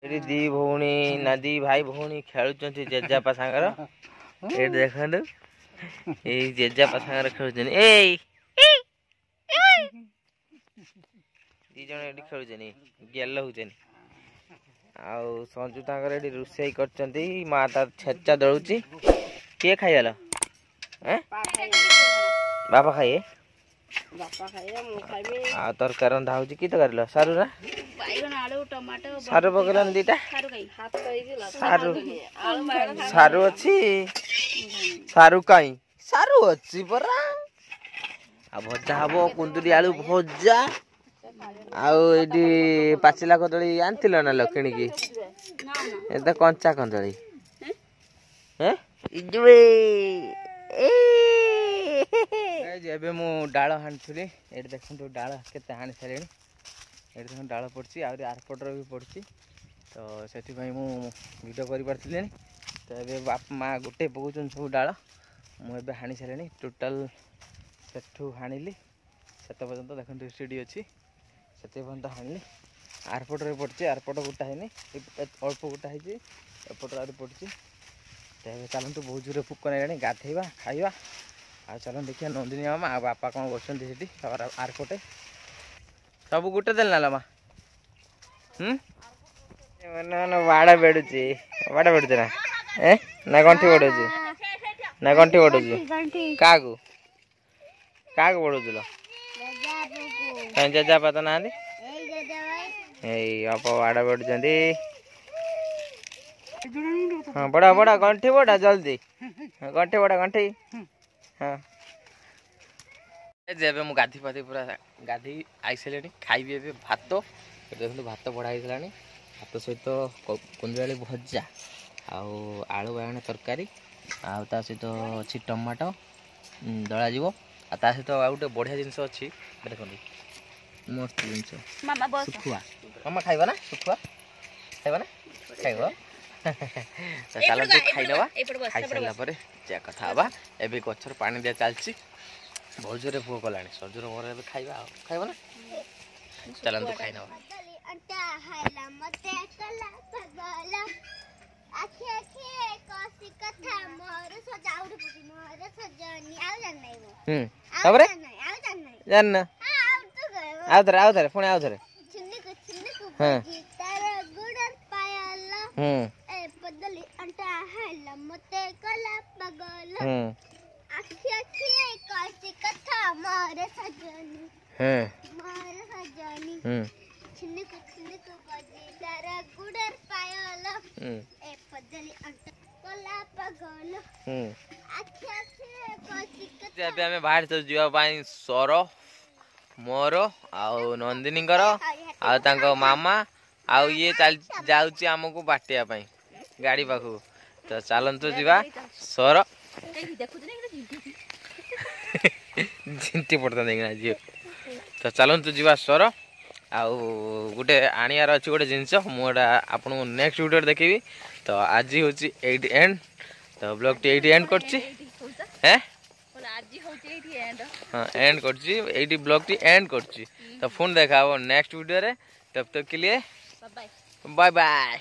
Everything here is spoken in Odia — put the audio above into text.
ଏଠି ଦି ଭଉଣୀ ନା ଦି ଭାଇ ଭଉଣୀ ଖେଳୁଛନ୍ତି ଜେଜେବାପା ସାଙ୍ଗର। ଏଇଠି ଦେଖନ୍ତୁ, ଏଇ ଜେଜେବାପା ସାଙ୍ଗରେ ଖେଳୁଛନ୍ତି। ଏଇ ଦି ଜଣ ଏଠି ଖେଳୁଛନ୍ତି, ଗେଲ ହଉଛନ୍ତି। ଆଉ ସଞ୍ଜୁ ତାଙ୍କର ଏଠି ରୋଷେଇ କରିଛନ୍ତି, ମା ତାର ଛେଚା ଦଳୁଛି। କିଏ ଖାଇଗଲ? ବାପା ଖାଇବେ। ଆଉ ତରକାରୀ ରନ୍ଧା ହଉଛି। କି ତରକାରୀ ଲୋ? ସାରୁ ନା ସାରୁ ପକେଇଲାନି ଦିଟା ସାରୁ। ସାରୁ ଅଛି, ସାରୁ କାଇଁ? ସାରୁ ଅଛି ପରା। ଆଉ ଭଜା ହବ କୁନ୍ଦୁରି ଆଳୁ ଭଜା। ଆଉ ଏଇଠି ପାଚିଲା କଦଳୀ ଆଣିଥିଲ ନା ଲୋ କିଣିକି? ଏ ତ କଞ୍ଚା କଦଳୀ। ଏବେ ମୁଁ ଡାଳ ହାଣିଥିଲି। ଏଇଠି ଦେଖନ୍ତୁ ଡାଳ କେତେ ହାଣି ସାରିଲିଣି। ଏଇଠି ଦେଖନ୍ତୁ ଡାଳ ପଡ଼ିଛି, ଆହୁରି ଆରପଟର ବି ପଡ଼ିଛି। ତ ସେଥିପାଇଁ ମୁଁ ଭିଡ଼ିଓ କରିପାରିଥିଲି। ତ ଏବେ ବାପା ମା ଗୋଟେ ପକାଉଛନ୍ତି ସବୁ ଡାଳ। ମୁଁ ଏବେ ହାଣି ସାରିଲିଣି ଟୋଟାଲ। ସେଠୁ ହାଣିଲି ସେତେ ପର୍ଯ୍ୟନ୍ତ, ଦେଖନ୍ତୁ ସିଡ଼ି ଅଛି, ସେତେ ପର୍ଯ୍ୟନ୍ତ ହାଣିଲି। ଆରପଟରେ ପଡ଼ିଛି, ଆରପଟ ଗୋଟା ହେଇନି, ଅଳ୍ପ ଗୋଟା ହେଇଛି। ଏପଟରେ ଆହୁରି ପଡ଼ିଛି। ତ ଏବେ ଚାଲନ୍ତୁ, ବହୁତ ଜୋରେ ଭୋକ ଲାଗିଲାଣି, ଗାଧେଇବା, ଖାଇବା। ଆଉ ଚାଲନ୍ତୁ ଦେଖିବା ନନ୍ଦିନୀ ମାମା ଆଉ ବାପା କ'ଣ କରୁଛନ୍ତି ସେଠି ଆରପଟେ। ସବୁ ଗୋଟେ ଦେଲେ ନା ମା? ହୁଁ, ବାଡ଼ ବେଡ଼ୁଛି, ବାଡ଼ ବେଡ଼ୁଛି ନା ଏ ନା ଗଣ୍ଠି ବଢ଼ଉଛି ନା ଗଣ୍ଠି ବଢ଼ଉଛି? କାହାକୁ କାହାକୁ ବଢ଼ଉଥିଲ? କାହିଁ ଜେଜେବାପା ତ ନାହାନ୍ତି। ଏଇ ଅପ ବାଡ଼ ବେଡ଼ୁଛନ୍ତି। ହଁ, ବଡ଼ ବଡ଼ ଗଣ୍ଠି ବଡ଼, ଜଲ୍ଦି ଗଣ୍ଠି ବଡ଼ ଗଣ୍ଠି। ହଁ, ଏବେ ମୁଁ ଗାଧି ପାଧି ପୁରା ଗାଧେଇ ଆଇସାରିଲିଣି। ଖାଇବି ଏବେ ଭାତ। ଦେଖନ୍ତୁ ଭାତ ବଢ଼ା ହେଇଗଲାଣି। ଭାତ ସହିତ କୁନ୍ଦୁରାଳି ଭଜା ଆଉ ଆଳୁ ବାଇଗଣ ତରକାରୀ, ଆଉ ତା ସହିତ ଅଛି ଟମାଟୋ ଦଳାଯିବ। ଆଉ ତା ସହିତ ଆଉ ଗୋଟେ ବଢ଼ିଆ ଜିନିଷ ଅଛି, ଦେଖନ୍ତୁ, ମସ୍ତ ଜିନିଷ, ଶୁଖୁଆ। ମାମା ଖାଇବ ନା? ଶୁଖୁଆ ଖାଇବ ନା? ଖାଇବ। ତ ଚାଲନ୍ତୁ ଖାଇନେବା, ଖାଇସାରିଲା ପରେ ଯାହା କଥା ହେବା। ଏବେ ଗଛରେ ପାଣି ଦିଆ ଚାଲିଛି। ବହୁତ ଜୋରେ ଭୋକ କଲାଣି। ସଜୁର ମୋର ଏବେ ଖାଇବା। ଆଉ ଖାଇବ ନା? ଚାଲନ୍ତୁ ଖାଇନେବା। ତାପରେ ଜାଣିନ? ଆଉ ଥରେ, ଆଉ ଥରେ, ପୁଣି ଆଉ ଥରେ। ହଁ ହୁଁ ହୁଁ ହୁଁ। ଏବେ ଆମେ ବାହାରି ଯିବା ପାଇଁ, ସର ମୋର ଆଉ ନନ୍ଦିନୀଙ୍କର ଆଉ ତାଙ୍କ ମାମା ଆଉ ଇଏ ଚାଲି ଯାଉଛି ଆମକୁ ବାଟିବା ପାଇଁ ଗାଡ଼ି ପାଖକୁ। ତ ଚାଲନ୍ତୁ ଯିବା। ସର ଝିଣ୍ଟି ପଡ଼ିଥାନ୍ତେ ଝିଅ। ତ ଚାଲନ୍ତୁ ଯିବା ସର। ଆଉ ଗୋଟେ ଆଣିବାର ଅଛି ଗୋଟେ ଜିନିଷ, ମୁଁ ଏଇଟା ଆପଣଙ୍କୁ ନେକ୍ସଟ ଭିଡ଼ିଓରେ ଦେଖିବି। ତ ଆଜି ହେଉଛି ଏଇଠି ଏଣ୍ଡ। ତ ବ୍ଲଗ୍ଟି ଏଇଠି ଏଣ୍ଡ କରୁଛି। ହେଁ, ହଁ, ଏଣ୍ଡ କରୁଛି ଏଇଠି, ବ୍ଲଗ୍ଟି ଏଣ୍ଡ କରୁଛି। ତ ପୁଣି ଦେଖା ହେବ ନେକ୍ସଟ ଭିଡ଼ିଓରେ। ତବ ତକ के लिए ବାଏ ବାଏ।